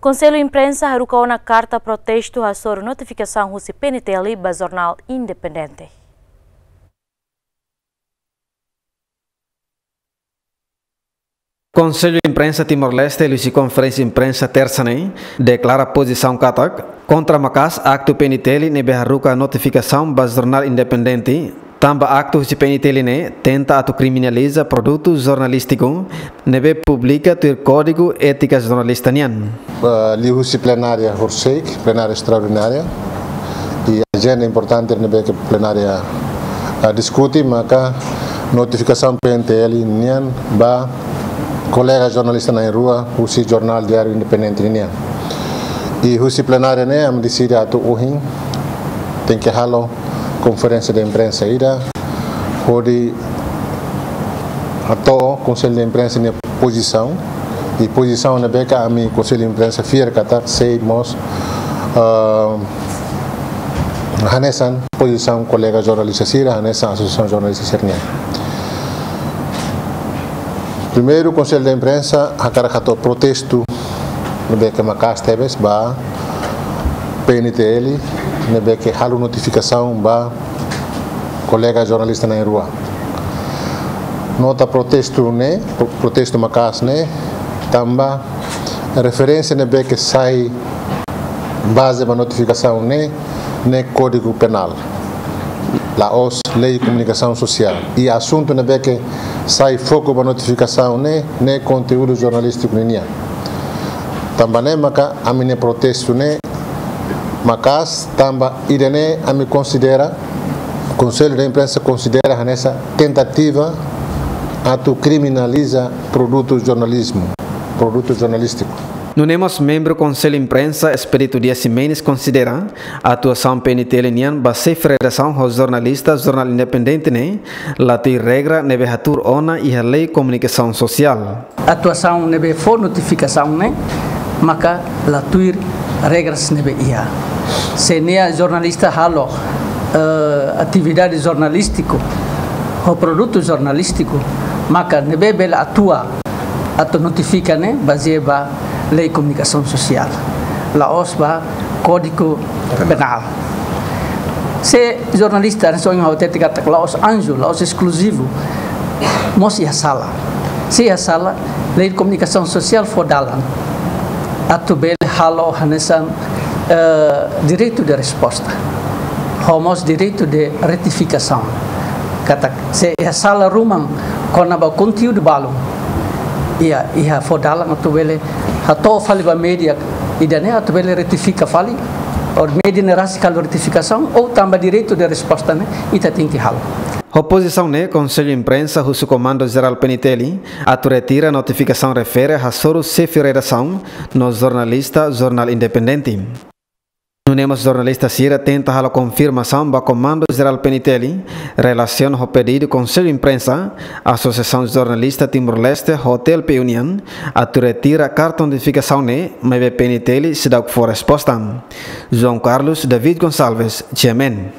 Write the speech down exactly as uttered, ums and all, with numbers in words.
Konsellu Imprensa haruka ona karta protestu hasoru notifikasaun husi P N T L ba Jornál Independente. Konsellu Imprensa Timor-Leste, liuhusi konferénsia imprensa tersa ne'e, deklara pozisaun katak kontra maka'as aktu P N T L ne'ebé haruka notifikasaun ba Jornál Independente, tanba aktu husi P N T L ne'e tenta atu kriminaliza produtu jornalístiku ne'ebé publika tuir Kódigu Étika Jornalista nian. Eh, liuhusi plenária horiseik, plenária estraordinária, i ajenda importante ne'ebé ke plenária, eh, diskute, maka notifikasaun P N T L nian ba kolega jornalista na'in-rua husi Jornál Diáriu Independente nian. I husi plenária ne'e, ami deside atu ohin tenke halo konferénsia de imprensa ida, hodi hato'o Konsellu de Imprensa nia pozisaun, i pozisaun ne'ebé ke ami Konsellu de Imprensa fiar katak sei mós, ah, hanesan pozisaun kolega jornalista sira, hanesan asosiasaun jornalista sira nian. Primeiru, Konsellu de Imprensa hakarak hato'o protestu ne'ebé ke maka'as tebes ba P N T L, ne'ebé ke halo notifikasaun ba kolega jornalista na'in-rua. Nota protestu ne'e, pro-, protestu maka'as ne'e, tanba referénsia ne'ebé ke sai baze ba notifikasaun ne'e, ne'e Kódigu Penál, la'ós Lei Komunikasaun Sosiál. I asuntu ne'ebé ke sai foku ba notifikasaun ne'e, ne'e konteúdu jornalístiku ninian. Tanba ne'e maka ami-nia protestu ne'e maka'as, tanba ida-ne'e ami konsidera, Konsellu de Imprensa konsidera hanesan tentativa atu kriminaliza produtu jornalizmu, produtu jornalístiku. Nune'e mós membru Konsellu Imprensa, Expedito Dias Ximenes, konsidera atuasaun P N T L nian ba xefe redasaun ho jornalista Jornál Independente ne'e la tuir regra ne'ebé hatuur ona iha Lei Komunikasaun Sosiál. Atuasaun ne'ebé fó notifikasaun ne'e maka la tuir regras ne'ebé iha. Se nia jornalista halo, eh, atividade jornalístiku ho produtu jornalístiku, maka ne'ebé bele atua atu notifika ne'e bazeia ba Lei Komunikasaun Sosiál, la'ós ba Kódigu Penál. Se jornalista, hanesan ohin ha'u hatete katak la'ós anju, la'ós eskluzivu, mós iha sala. Se iha sala, Lei Komunikasaun Sosiál fó dalan atu bele halo hanesan, eh, direitu de resposta, ho mós direitu de retifikasaun. Katak se iha sala ruma kona-ba konteúdu balun, iha, iha fó dalan atu bele hato'o fali ba média ida-ne'e atu bele retifika fali, ou média ne'e rasik halo retifikasaun, ou tanba direitu de resposta ne'e ita tenke halo. Ho pozisaun ne'e, Konsellu Imprensa husu Komandu Jerál P N T L atu retira notifikasaun refere hasoru xefe redasaun no jornalista Jornál Independente. Nune'e mós jornalista sira tenta halo konfirmasaun ba Komandu Jerál P N T L relasiona ho pedidu Konsellu Imprensa, Asosiasaun Jornalista Timor-Leste ho T L P U nian atu retira karta notifikasaun ne'e, maibé P N T L seidauk fó resposta. João Carlos David Gonçalves, G M N.